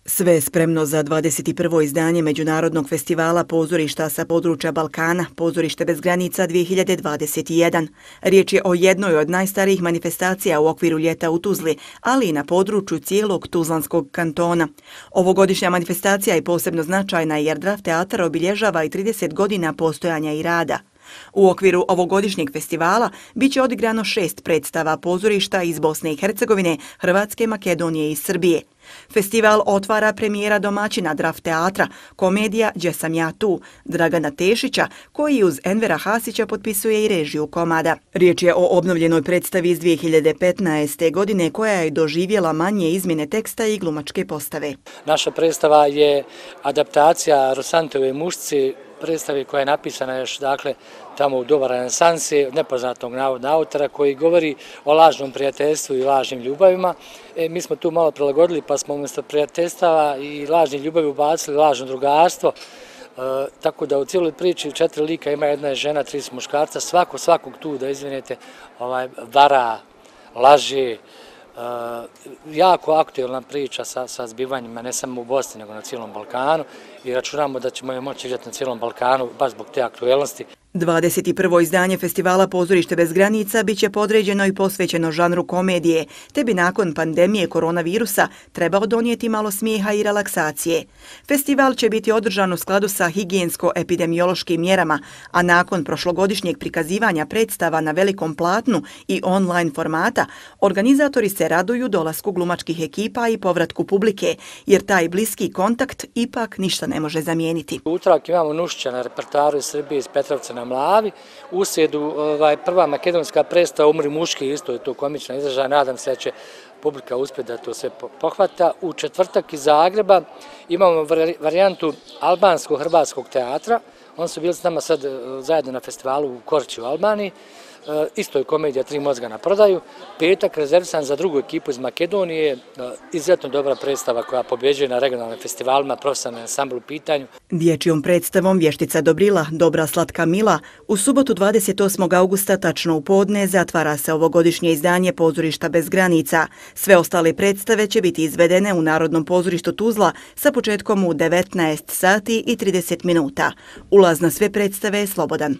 Sve je spremno za 21. izdanje Međunarodnog festivala pozorišta sa područja Balkana, Pozorište bez granica 2021. Riječ je o jednoj od najstarijih manifestacija u okviru ljeta u Tuzli, ali i na području cijelog Tuzlanskog kantona. Ovogodišnja manifestacija je posebno značajna jer Draft teatar obilježava i 30 godina postojanja i rada. U okviru ovogodišnjeg festivala biće odigrano 6 predstava pozorišta iz Bosne i Hercegovine, Hrvatske, Makedonije i Srbije. Festival otvara premijera domaćina Draft teatra, komedija Đe sam ja tu, Dragana Tešića, koji uz Envera Hasića potpisuje i režiju komada. Riječ je o obnovljenoj predstavi iz 2015. godine koja je doživjela manje izmjene teksta i glumačke postave. Naša predstava je adaptacija Rosantove Mušci, predstavi koja je napisana još tamo u doba renesanse, nepoznatog navodnog autora koji govori o lažnom prijateljstvu i lažnim ljubavima. Mi smo tu malo prilagodili pa smo umjesto prijateljstava i lažnih ljubavi ubacili lažno drugarstvo. Tako da u cijeloj priči 4 lika ima, jedna je žena, 3 su muškarca, svakog tu, da izvinete, vara, laže. Jako aktualna priča sa zbivanjima ne samo u Bosni nego na cijelom Balkanu i računamo da ćemo je moći igrati na cijelom Balkanu baš zbog te aktualnosti. 21. izdanje festivala Pozorište bez granica biće podređeno i posvećeno žanru komedije, te bi nakon pandemije koronavirusa trebao donijeti malo smijeha i relaksacije. Festival će biti održan u skladu sa higijensko-epidemiološkim mjerama, a nakon prošlogodišnjeg prikazivanja predstava na velikom platnu i online formata, organizatori se raduju dolasku glumačkih ekipa i povratku publike, jer taj bliski kontakt ipak ništa ne može zamijeniti. Utorak imamo Nušića na repertoaru iz Srbije, iz Petrovca na Mlavi. U srijedu prva makedonska predstava Umri muški, isto je to komična izražaj, nadam se da će publika uspjeti da to sve pohvata. U četvrtak iz Zagreba imamo varijantu albansko-hrvatskog teatra. Oni su bili s nama sad zajedno na festivalu u Korči u Albaniji. Isto je komedija 3 mozga na prodaju. Petak rezervisan za drugu ekipu iz Makedonije. Izuzetno dobra predstava koja pobjeđuje na regionalnim festivalima, profesionalni ansambl u pitanju. Dječjom predstavom Vještica Dobrila, Dobra slatka Mila, u subotu 28. augusta tačno u podne zatvara se ovogodišnje izdanje Pozorišta bez granica. Sve ostale predstave će biti izvedene u Narodnom pozorištu Tuzla sa početkom u 19 sati i 30 minuta. Ulaz na sve predstave je slobodan.